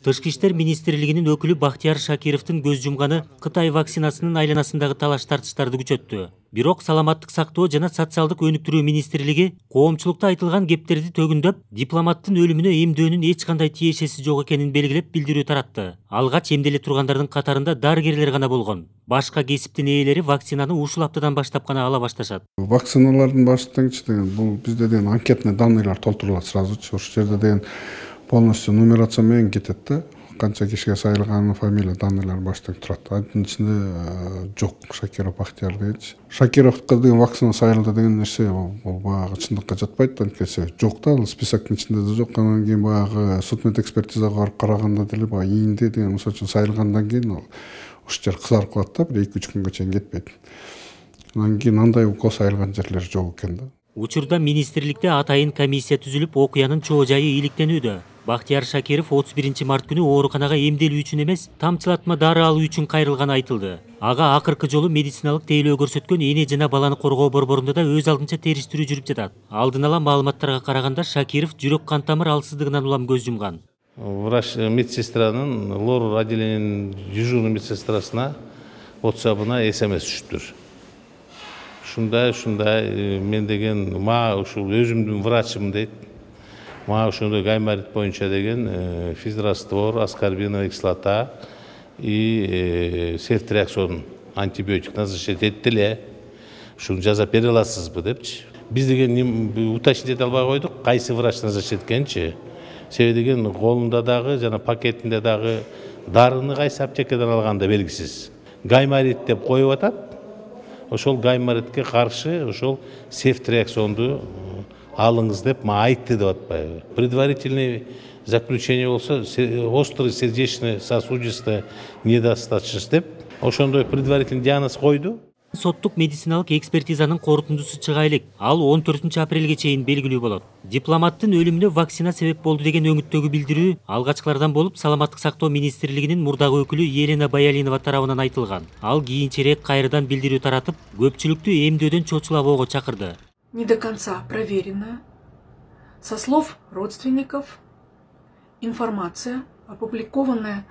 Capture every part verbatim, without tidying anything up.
Тышкы иштер министрлигинин өкүлү Бахтияр Шакировдун көз жумганы Кытай вакцинасынын айланасындагы талаш тартыштарды күчөттү. Бирок Саламаттык сактоо жана социалдык өнүктүрүү министрлиги коомчулукта айтылган кептерди төгүндөп, дипломаттын өлүмүнө эмдөөнүн эч кандай тиешеси жок экенин белгилеп билдирүү таратты. Алгач эмделе тургандардын катарында дарыгерлер гана болгон. Башка кесиптин ээлери вакцинаны ушул аптадан баштап гана ала башташат. Вакциналардын баштангычы деген бул бизде деген анкетный данныйлар толтурулат сразу. Ошол жерде деген полностью нумерация менен кетет да. Канча кишиге сайылган, фамилия данныйлар баштан турат. Анын ичинде жок Шакиров Бахтияр дегенчи. Шакировго деген вакцина сайылды деген нерсе бул баягы чындыкка жатпайт, анткени жок да, ал списоктун ичинде да жок. Анан кийин баягы судмедэкспертизага барып караганда деле баягы ийинде деген мисалы үчүн сайылгандан кийин ал ушул жер кызарып калат да, бир эки үч күнгө чейин кетпейт. Анан кийин андай укол сайылган жерлер жок экен да. Учурда министрликте атайын комиссия түзүлүп, окуянын чоо жайы иликтенүүдө. Бахтияр Шакиров отуз биринчи март күнү ооруканага эмделүү үчүн эмес, тамчылатма дары алуу үчүн кайрылганы айтылды. Ага акыркы жолу медициналык тейлөө көрсөткөн эне жана баланы коргоо борборунда да өз алдынча териштирүү жүрүп жатат. Алдын ала маалыматтарга караганда Шакиров жүрөк кан тамыр алсыздыгынан улам көз жумган. Врач медсестранын лор отделениянын дежурный медсестрасына WhatsApp-ына смс түшүптүр. Ушундай, ушундай мен деген мага ушул өзүмдүн врачым дейт. Мага ошондой гайморит боюнча деген физраствор, аскорбиновая кислота и сефтриаксон антибиотик назначить этти эле. Ушуну жазап бере аласызбы депчи. Биз деген уточнить эте албай койдук, кайсы врач назначить эткенчи. Себеби деген колунда дагы жана пакетинде дагы дарыны кайсы аптекадан алганда белгисиз. Гайморит деп коюп атат. Ошол гайморитке каршы ошол сефтриаксонду алыңыз деп мага айтты деп атпайбы. Предварительный заключение болсо острый сердечно-сосудистая недостаточность деп ошондой предварительный диагноз койду. Соттук медициналык экспертизанын корутундусу чыга элек. Ал он төртүнчү апрелге чейин белгилүү болот. Дипломаттын өлүмүнө вакцина себеп болду деген өңүттөгү билдирүү алгачкылардан болуп, Саламаттык сактоо министрлигинин мурдагы өкүлү Елена Баялинова тарабынан айтылган. Ал кийинчерээк кайрадан билдирүү таратып, көпчүлүктү эмдөөдөн чочулабоого чакырды. Не до конца проверено. Со слов родственников, информация, опубликованная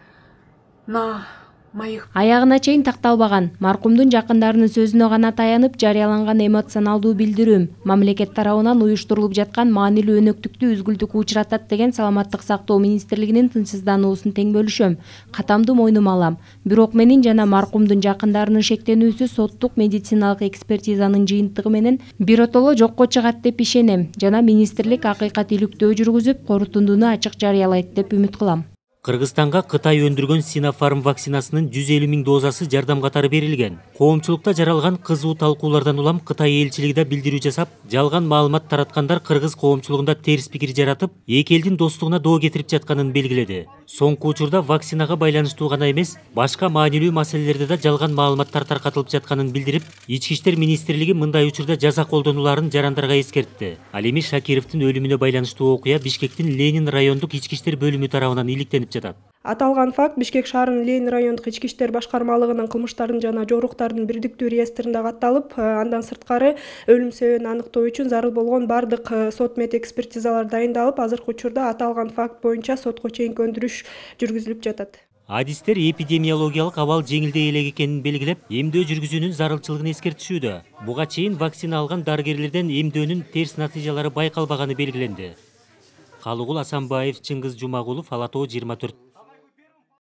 на моих... Аягына чейин такталбаган, маркумдун жакындарынын сөзүнө гана таянып жарыяланган эмоционалдуу билдирүүм мамлекет тарабынан уюштурулуп жаткан маанилүү өнөктүктү үзгүлтүккө учуратат деген Саламаттык сактоо министрлигинин тынчсыздануусун тең бөлүшөм. Катамды мойнума алам. Бирок менин жана маркумдун жакындарынын шектенүүсү соттук медициналык экспертизанын жыйынтыгы менен биротоло жокко чыгат деп ишенем жана министрлик акыйкатиликтөө жүргүзүп, корутундуну ачык жарыялайт деп үмүт кылам. Кыргызстанга Кытай өндүргөн Синофарм вакцинасынын жүз элүү миң дозасы жардам катары берилген. Коомчулукта жаралган кызуу талкуулардан улам Кытай элчилиги да билдирүү жасап, жалган маалымат тараткандар кыргыз коомчулугунда терс пикир жаратып, эки элдин достугуна доо кетирип жатканын белгиледи. Соңку учурда вакцинага байланыштуу гана эмес, башка маанилүү маселелерде да жалган маалыматтар таркатылып жатканын билдирип, Ички иштер министрлиги мындай учурда жаза колдонуларын жарандарга эскертти. Ал эми Шакировдун өлүмүнө байланыштуу окуя Бишкектин Ленин райондук ички иштер бөлүмү тарабынан иликтенип жатат. Аталган факт Бишкек шаарынын Ленин райондук ички иштер башкармалыгынын кылмыштардын жана жоруктардын бирдиктүү реестринде катталып, андан сырткары өлүм себебин аныктоо үчүн зарыл болгон бардык сот мед экспертизалар дайындалып, азыркы учурда аталган факт боюнча сотко чейинки өндүрүш жүргүзүлүп жатат. Адистер эпидемиологиялык абал жеңилдей элек экенин белгилеп, эмдөө жүргүзүүнүн зарылчылыгын эскертишүүдө. Буга чейин вакцина алган дарыгерлерден эмдөөнүн терс натыйжалары байкалбаганы белгиленди. Калыгул Асанбаев, Чыңгыз Жумагулов, Ала Тоо жыйырма төрт.